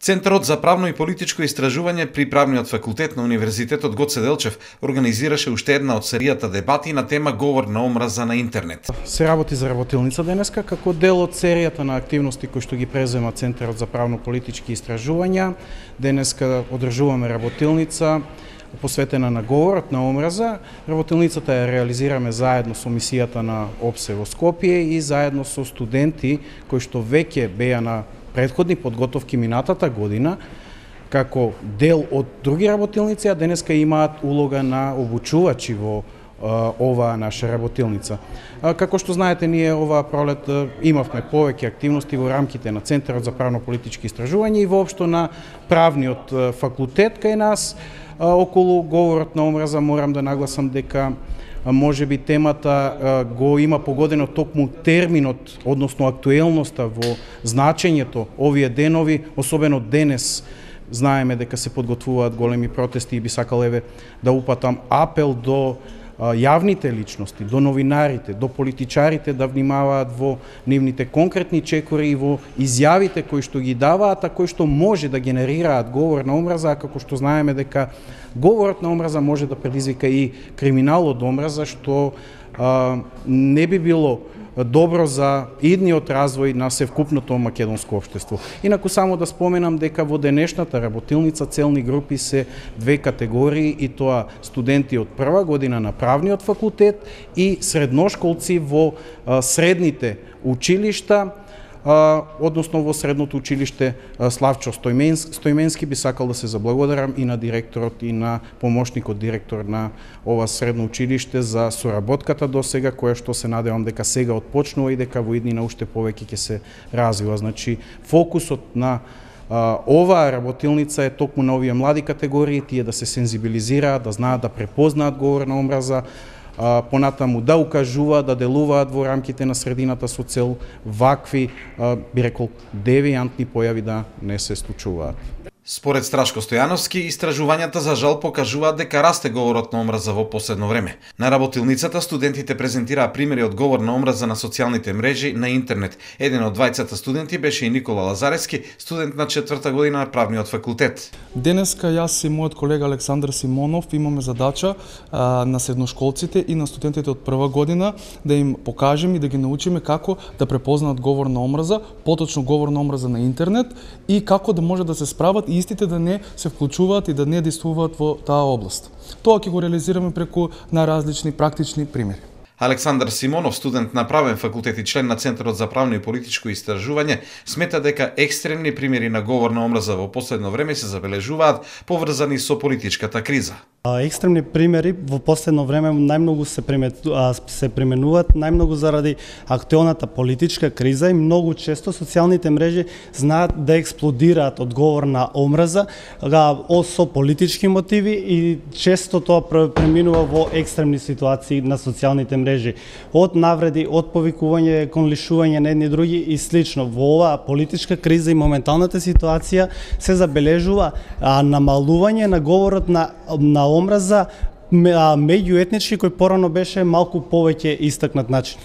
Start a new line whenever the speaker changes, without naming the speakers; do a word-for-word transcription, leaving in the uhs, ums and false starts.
Центарот за правно и политичко истражување при Правниот факултет на Универзитетот Гоце Делчев организираше уште една од серијата дебати на тема говор на омраза на интернет.
Се работи за работилница денеска како дел од серијата на активности кои што ги презема Центарот за правно политички истражувања. Денеска одржуваме работилница посветена на говорот на омраза. Работилницата ја реализираме заедно со мисијата на ОПСЕ во Скопје и заедно со студенти кои што веќе беа на предходни подготовки минатата година како дел од други работилници, а денеска имаат улога на обучувачи во а, оваа наша работилница. А, како што знаете, ние оваа пролет а, имавме повеќе активности во рамките на Центарот за правно-политички истражувања и воопшто на правниот а, факултет кај нас. А, околу говорот на омраза морам да нагласам дека може би темата го има погодено токму терминот, односно актуелноста во значењето овие денови, особено денес. Знаеме дека се подготвуваат големи протести и би сакал еве да упатам апел до јавните личности, до новинарите, до политичарите да внимаваат во нивните конкретни чекори и во изјавите кои што ги даваат, а кои што може да генерираат говор на омраза, како што знаеме дека говорот на омраза може да предизвика и криминал од омраза, што а, не би било добро за идниот развој на севкупното македонско општество. Инаку само да споменам дека во денешната работилница целни групи се две категории, и тоа студенти од прва година на правниот факултет и средношколци во а, средните училишта, а, односно во средното училиште а, Славчо Стојменски, Стојменски. Би сакал да се заблагодарам и на директорот и на помошникот директор на ова средно училиште за соработката до сега, која што се надевам дека сега отпочнува и дека во иднина уште повеќе ќе се развива. Значи, фокусот на а, оваа работилница е токму на овие млади категории, тие да се сензибилизираат, да знаат да препознаат говор на омраза, а, понатаму да укажуваат, да делуваат во рамките на средината со цел вакви, а, би рекол, девијантни појави да не се случуваат.
Според Страшко Стојановски, истражувањата за жал покажуваат дека расте говорот на омраза во последно време. На работилницата студентите презентираа примери од говор на омраза на социјалните мрежи на интернет. Еден од двајцата студенти беше и Никола Лазарески, студент на четврта година на правниот факултет.
Денеска јас и мојот колега Александар Симонов имаме задача а, на средношколците и на студентите од прва година да им покажеме и да ги научиме како да препознаат говор на омраза, поточно говор на омраза на интернет, и како да може да се справат и истите да не се вклучуваат и да не действуваат во таа област. Тоа ќе го реализираме преку најразлични практични примери.
Александар Симонов, студент на правен факултет и член на Центарот за правно и политичко истражување, смета дека екстремни примери на говор на омраза во последно време се забележуваат поврзани со политичката криза.
Екстремни примери во последно време најмногу се се применуваат најмногу заради актуелната политичка криза и многу често социјалните мрежи знаат да експлодираат од говор на омраза со политички мотиви и често тоа преминува во екстремни ситуации на социјалните мрежи, од навреди, од повикување кон лишување на едни други и слично. Во оваа политичка криза и моменталната ситуација се забележува намалување на говорот на на омраза меѓуетнички кој порано беше малку повеќе истакнат начин.